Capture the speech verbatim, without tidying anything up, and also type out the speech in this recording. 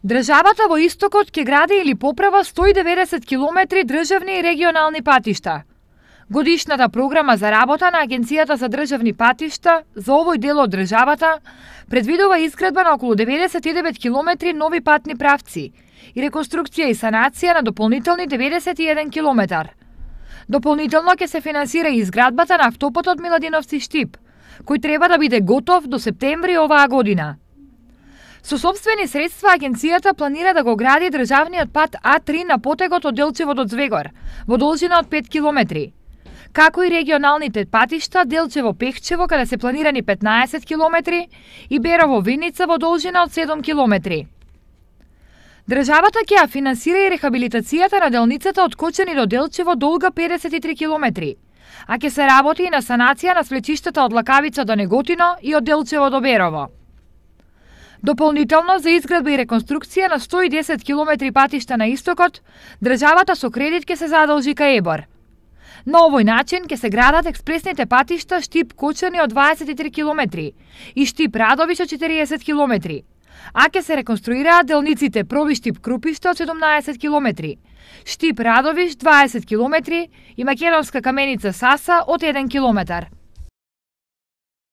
Државата во Истокот ќе гради или поправа сто и деветдесет километри државни и регионални патишта. Годишната програма за работа на Агенцијата за државни патишта за овој дел од државата предвидува изградба на околу деветдесет и девет километри нови патни правци и реконструкција и санација на дополнителни деветдесет и еден километар. Дополнително ќе се финансира и изградбата на автопатот Миладиновци-Штип, кој треба да биде готов до септември оваа година. Со сопствени средства агенцијата планира да го гради државниот пат А три на потегот од Делчево до Звегор, во должина од пет километри, како и регионалните патишта Делчево-Пехчево, каде се планирани петнаесет километри, и Берово-Виница во должина од седум километри. Државата ќе ја финансира и рехабилитацијата на делницата од Кочани до Делчево долга педесет и три километри, а ќе се работи и на санација на свлечиштата од Лакавица до Неготино и од Делчево до Берово. Дополнително за изградба и реконструкција на сто и десет километри патишта на Истокот, државата со кредит ќе се задолжи кај ЕБОР. На овој начин ќе се градат експресните патишта Штип-Кочани од дваесет и три километри и Штип-Радовиш од четириесет километри, а ќе се реконструираат делниците Проби-Штип-Крупиште од седумнаесет километри, Штип-Радовиш дваесет километри и Македонска каменица Саса од еден километар.